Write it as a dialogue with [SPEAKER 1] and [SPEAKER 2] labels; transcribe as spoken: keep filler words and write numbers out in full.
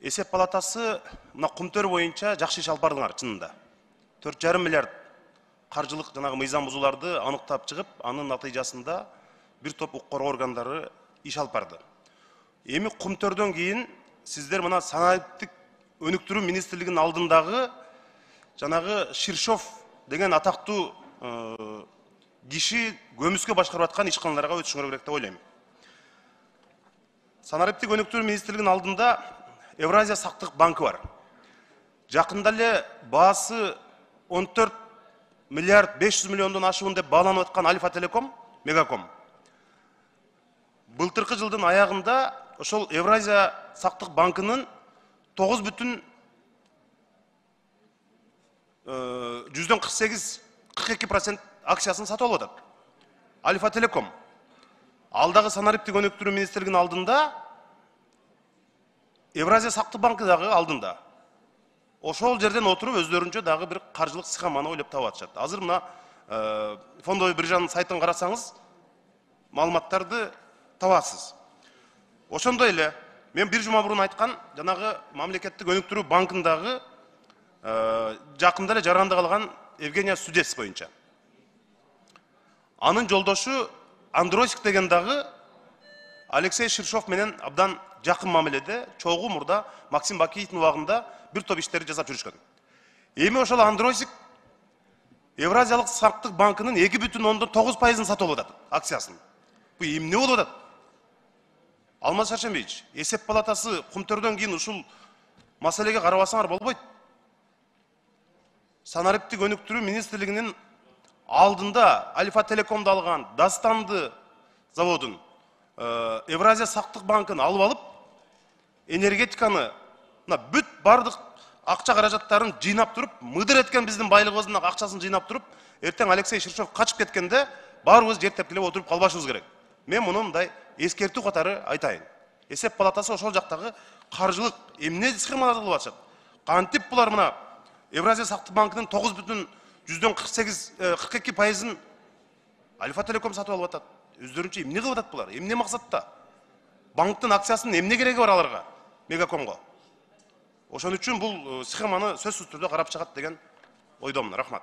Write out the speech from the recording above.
[SPEAKER 1] Эсеп палатасы мына Кумтөр боюнча жакшы иш алып бардыңар чынында. төрт жарым миллиард каржылык жанагы мыйзам бузууларды аныктап чыгып, анын натыйжасында бир топ укук органдары иш алып барды. Эми Кумтөрдөн кийин сиздер мына санариптик өнүктүрүү министрлигинин алдындагы жанагы Ширшов деген атактуу киши көмүскө башкарып аткан ишканаларга өтүшүңөр керек деп ойлойм. Санариптик өнүктүрүү министрлигинин алдында Евразия сактык банкы бар. Жакында эле баасы он төрт миллиард беш жүз миллиондон ашуун деп бааланып аткан Альфа Телеком, Мегаком былтыркы жылдын аягында ошол Евразия сактык банкынын тогуз бүтүн жүздөн кырк сегиз кырк эки процент акциясын сатып алып атат. Альфа Телеком. Ал дагы санариптик өнүктүрүү министрлигинин алдында, Евразия сактык банкы дагы алдында. Ошол жерден отуруп өздөрүнчө дагы бир каржылык схеманы ойлоп таап атышат. Азыр мына фондовый биржанын сайтын карасаңыз, маалыматтарды табасыз. Ошондой эле мен бир жума мурун айткан жанагы мамлекеттик өнүктүрүү банкындагы жакында эле жаранды калган Евгения Судец боюнча. Анын жолдошу Андросик деген дагы Алексей Ширшов менен абдан жакын мамиледе, чогуу мурда Максим Бакиевдин убагында бир топ иштерди жасап жүрүшкөн. Эми ошол Андросик Евразиялык сактык банкынын эки бүтүн ондон тогуз пайызын сатып алып атат, акциясын. Бу эмне болуп атат? Алмаз Шаршембиевич, эсеп палатасы Кумтөрдөн кийин ушул маселеге карабасаңар болбойт. Санариптик өнүктүрүү министрлигинин алдында Альфа Телекомду алган, Дастанды заводун, Евразия сактык банкын алып алып, энергетиканы бүт бардык акча каражаттарын жыйнап туруп, мыдыр эткен биздин байлыгыбыздын акчасын жыйнап туруп, эртең Алексей Ширшов качып кеткенде баарыбыз жер тепкилеп отуруп калбашыбыз керек. Мен муну мындай эскертүү катары айтайын. Эсеп палатасы ошол жактагы каржылык эмне схемаларды кылып атышат? Кантип булар мына Евразия сактык банкынын тогуз бүтүн жүздөн кырк сегиз кырк эки пайызын Альфа Телеком сатып алып атат. Өздөрүнчө эмне кылып атат булар? Эмне максатта? Банктын акциясынын эмне кереги бар аларга? Мегакомго. Ошон үчүн бул схеманы сөзсүз түрдө карап чыгат деген ойдомун. Рахмат.